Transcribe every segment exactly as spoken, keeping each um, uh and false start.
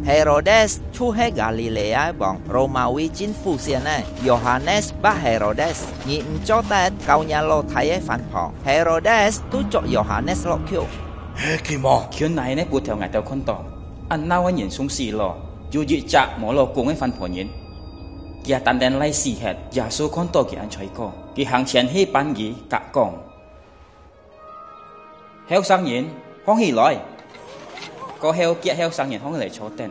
Herodes就係加利利亞王羅馬位政府先仔。Yohanes bat Herodes, ngì毋做得教若老弟仔番婆。Herodes都捉Yohanes落去。係佢無？佢哪呢不調𠊎兜看到，恁鬧个人送死咯，有一隻無老公个番婆人，佢也單單賴死忒。耶穌看到佢恁衰過，佢行前去扳佢，甲講：後生人，䟘起來！過後，厥後生人䟘起來坐等。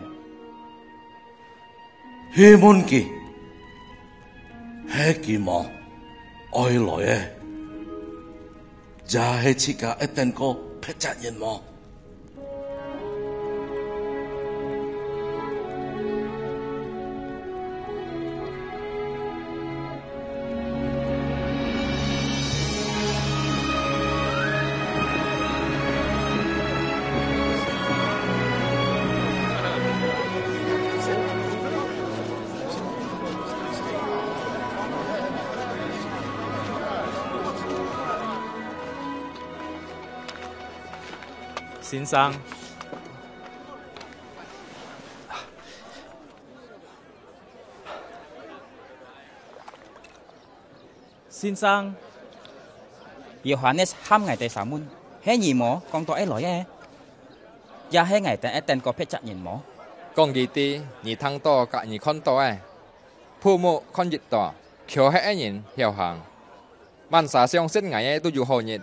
去問佢，係佢無愛來个，也係自家愛等過別隻人無？ 先生，先生，Yohanes喊𠊎兜三問，係你無講到愛來个？也係𠊎兜愛等過別隻人無？講佢知，你聽到佮你看到个，布幕看一到，橋歇个人曉行。滿儕相信𠊎个都有好日，